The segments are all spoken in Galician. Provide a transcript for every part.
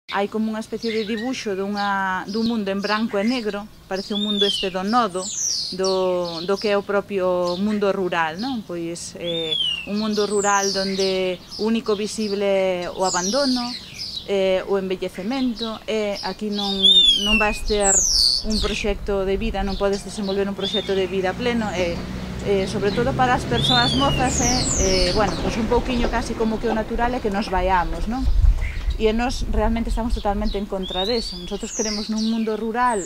Hai como unha especie de dibuixo dun mundo en branco e negro, parece un mundo este do nodo, do que é o propio mundo rural, non? Pois un mundo rural onde o único visible é o abandono, o envellecemento, e aquí non vas ter un proxecto de vida, non podes desenvolver un proxecto de vida pleno, sobre todo para as persoas mozas, bueno, pois un pouquiño casi como que o natural é que nos vaiamos, non? E nós realmente estamos totalmente en contra deso. Nosotros queremos nun mundo rural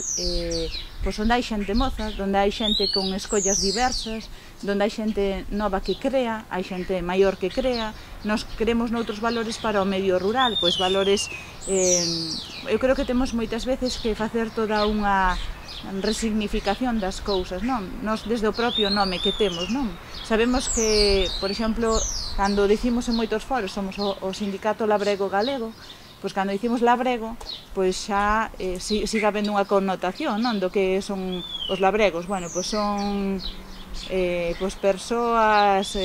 pois onde hai xente moza, onde hai xente con escollas diversas, onde hai xente nova que crea, hai xente maior que crea. Nós queremos noutros valores para o medio rural, pois valores, eu creo que temos moitas veces que facer toda unha resignificación das cousas, non? Nós desde o propio nome que temos, non? Sabemos que, por exemplo, cando dicimos en moitos foros somos o Sindicato Labrego Galego, pois cando dicimos labrego, pois xa siga habendo unha connotación, non? Do que son os labregos. Bueno, pois son pois persoas,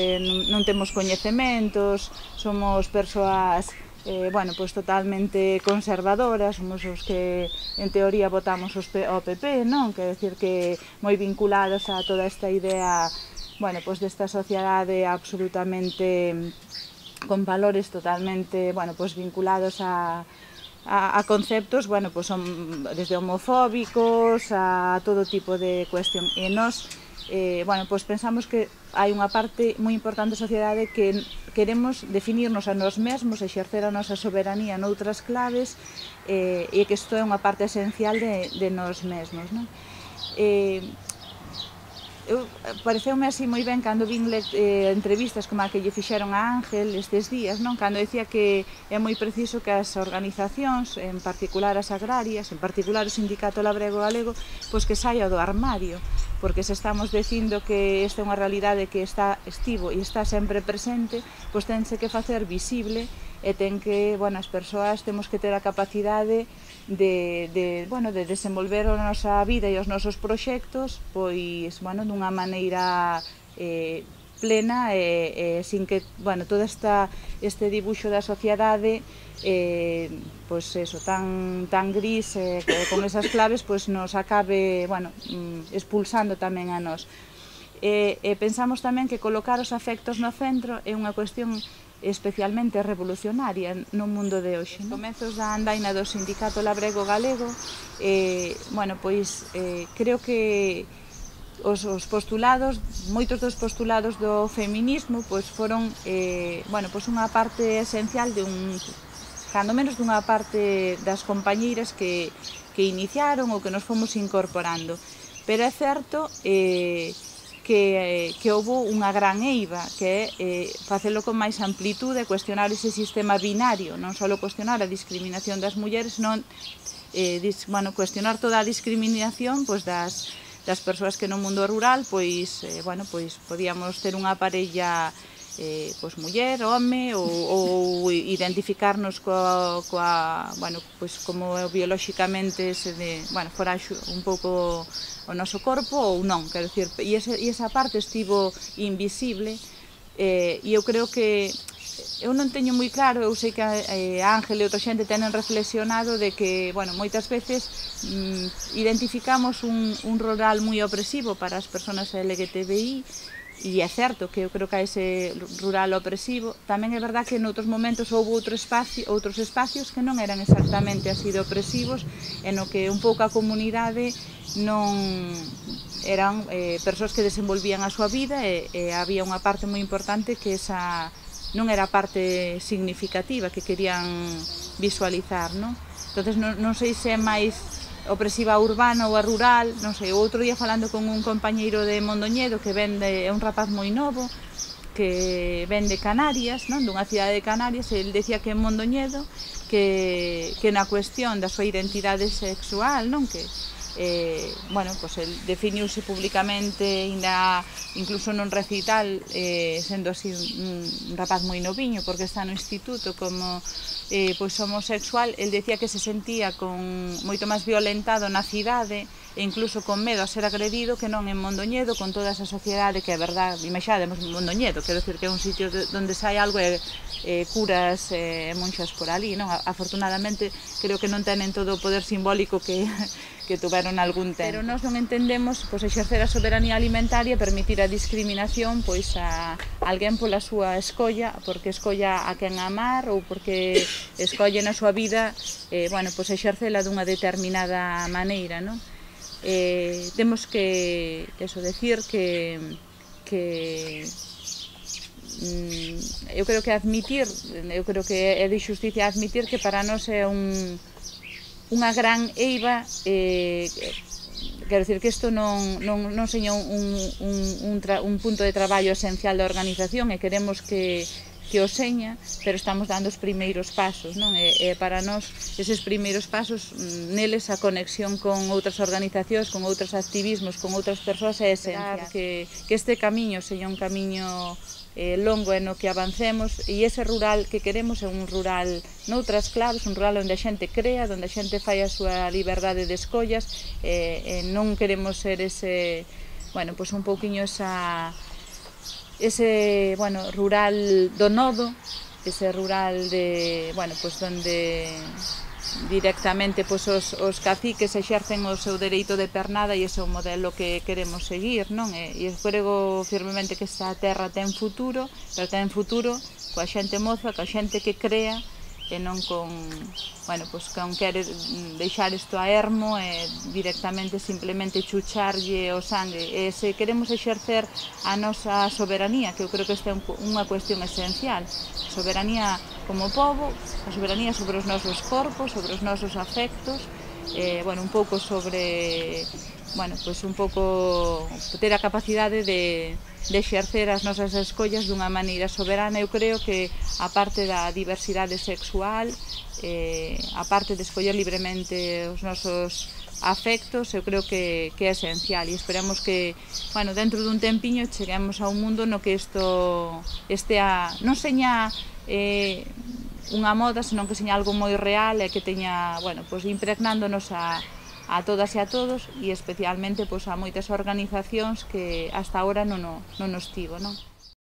non temos coñecementos, somos persoas bueno, pois totalmente conservadoras, somos os que en teoría votamos ao PP, non? Quer decir que moi vinculados a toda esta idea, bueno, pois desta sociedade absolutamente con valores totalmente, bueno, pois vinculados a conceptos, bueno, pois son desde homofóbicos a todo tipo de cuestión. E nós, bueno, pois pensamos que hai unha parte moi importante da sociedade que queremos definirnos a nós mesmos, exercer a nosa soberanía noutras claves, e que isto é unha parte esencial de nós mesmos, non? Pareceume así moi ben cando vin entrevistas como a que lle fixeron a Ángel estes días, non? Cando decía que é moi preciso que as organizacións, en particular as agrarias, en particular o Sindicato Labrego Galego, pois que saia do armario, porque se estamos dicindo que esta é unha realidade que estivo e está sempre presente, pois tense que facer visible e ten que, bueno, as persoas temos que ter a capacidade bueno, de desenvolver a nosa vida e os nosos proxectos, pois, bueno, dunha maneira plena e sin que, bueno, todo este dibuixo da sociedade pois eso, tan gris, con esas claves, pois nos acabe, bueno, expulsando tamén a nós. Pensamos tamén que colocar os afectos no centro é unha cuestión especialmente revolucionaria no mundo de hoxe. Nos comezos da andaina do Sindicato Labrego Galego, bueno, pois creo que os postulados, moitos dos postulados do feminismo, pois foron, bueno, pois unha parte esencial cando menos dunha parte das compañeiras que iniciaron ou que nos fomos incorporando. Pero é certo que houve unha gran eiva, que é facelo con máis amplitude, cuestionar ese sistema binario, non só cuestionar a discriminación das mulleres, non, bueno, cuestionar toda a discriminación pois das persoas que no mundo rural, pois, bueno, pois podíamos ter unha parella pois muller, home, ou identificarnos bueno, pois como biolóxicamente bueno, fora un pouco o noso corpo ou non, quero dicir, e esa parte estivo invisible, e eu creo que eu non teño moi claro, eu sei que Ángel e outra xente tenen reflexionado de que, bueno, moitas veces identificamos un rural moi opresivo para as persoas LGTBI, e é certo que eu creo que hai ese rural opresivo. Tamén é verdad que noutros momentos houve outros espacios que non eran exactamente así de opresivos, e no que un pouco a comunidade non eran persoas que desenvolvían a súa vida, e había unha parte moi importante que esa non era a parte significativa que querían visualizar, non? Entonces non sei se é máis opresiva a urbana ou a rural, non sei. O outro día falando con un compañeiro de Mondoñedo que vende, é un rapaz moi novo que vende Canarias, non? Dunha cidade de Canarias, e ele decía que en Mondoñedo que na cuestión da súa identidade sexual, non? Que bueno, pois el definiuse públicamente incluso nun recital, sendo así un rapaz moi noviño porque está no instituto como pois homosexual. El decía que se sentía moito máis violentado na cidade e incluso con medo a ser agredido que non en Mondoñedo, con toda esa sociedade que é verdade, imaxademos Mondoñedo, quero dicir que é un sitio onde sai algo e curas e monxas por ali, non? Afortunadamente, creo que non tenen todo o poder simbólico que tuveron algún tempo. Pero nós non entendemos exercer a soberanía alimentaria e permitir a discriminación a alguén pola súa escolla, porque escolla a quen amar ou porque escolle na súa vida exercela dunha determinada maneira, non? Temos que decir que eu creo que é de xusticia admitir que para nós é unha gran eiva, quero dicir que isto non seña un punto de traballo esencial da organización e queremos que o seña, pero estamos dando os primeiros pasos, non? E para nós eses primeiros pasos, neles a conexión con outras organizacións, con outros activismos, con outras persoas é esencial. Que este camiño seña un camiño longo e no que avancemos, e ese rural que queremos é un rural noutras claves, un rural onde a xente crea, onde a xente fai a súa liberdade de escollas, e non queremos ser ese, un pouquiño ese rural do nodo, ese rural de, donde directamente os caciques exercen o seu dereito de pernada, e ese é o modelo que queremos seguir, non? E eu creo firmemente que esta terra ten futuro, pero ten futuro coa xente moza, coa xente que crea, e non con querer deixar isto a ermo e directamente simplemente chucharlle o sangue. E se queremos exercer a nosa soberanía, que eu creo que esta é unha cuestión esencial, a soberanía como pobo, a soberanía sobre os nosos corpos, sobre os nosos afectos, un pouco sobre ter a capacidade de exercer as nosas escollas dunha maneira soberana. Eu creo que a parte da diversidade sexual, a parte de escoller libremente os nosos afectos, eu creo que é esencial, e esperamos que dentro dun tempiño cheguemos a un mundo no que isto non seña unha moda, senón que seña algo moi real e que teña, impregnándonos a todas e a todos, e especialmente a moitas organizacións que hasta agora non nos tivo, non?